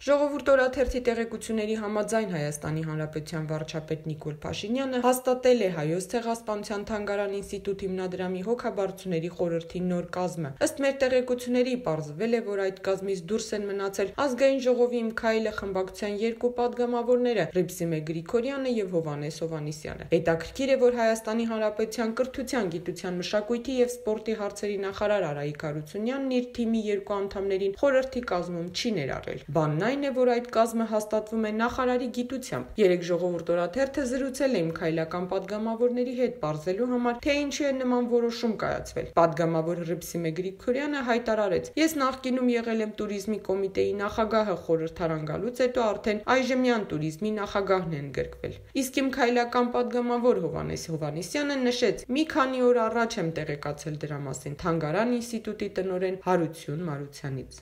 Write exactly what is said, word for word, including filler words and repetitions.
Ժողովուրդ օրաթերթի տեղեկությունների համաձայն Հայաստանի Հանրապետության վարչապետ Նիկոլ Փաշինյանը հաստատել է Հայոց ցեղասպանության թանգարան ինստիտուտ հիմնադրամի հոգաբարձուների խորհրդի նոր կազմը։ Ըստ մեր տեղեկությունների, պարզվել է, որ այդ կազմից դուրս են մնացել Ազգային ժողովի «Իմ քայլը» խմբակցության երկու պատգամավորները՝ Հռիփսիմե Գրիգորյանը եւ Հովհաննես Հովհաննիսյանը։ Հետաքրքիր է, որ Հայաստանի Հանրապետության կրթության, գիտության, մշակույթի եւ սպորտի հարցերի նախարար Արայիկ Հարությունյանն իր թիմի երկու անդամներին խորհրդի կազմում չի ներառել։ Բանն այն է, որ այդ կազմը հաստատվում է նախարարի գիտությամբ։ Երեք Ժողովուրդ օրաթերթը զրուցել է «Իմ քայլական» պատգամավորների հետ, պարզելու համար, թե ինչու է նման որոշում կայացվել։ Պատգամավոր Հռիփսիմե Գրիգորյանը հայտարարեց. «Ես նախկինում եղել եմ туриզմի կոմիտեի նախագահը, խորհրդարան գալուց հետո արդեն այժմյան туриզմի նախագահն են գրկվել»։ Իսկ «Իմ քայլական» պատգամավոր Հովհաննես Հովհաննիսյանը նշեց. «Մի քանի օր առաջ եմ տեղեկացել դրա մասին թանգարան ինստիտուտի տնօրեն Հարություն Մարությանից»։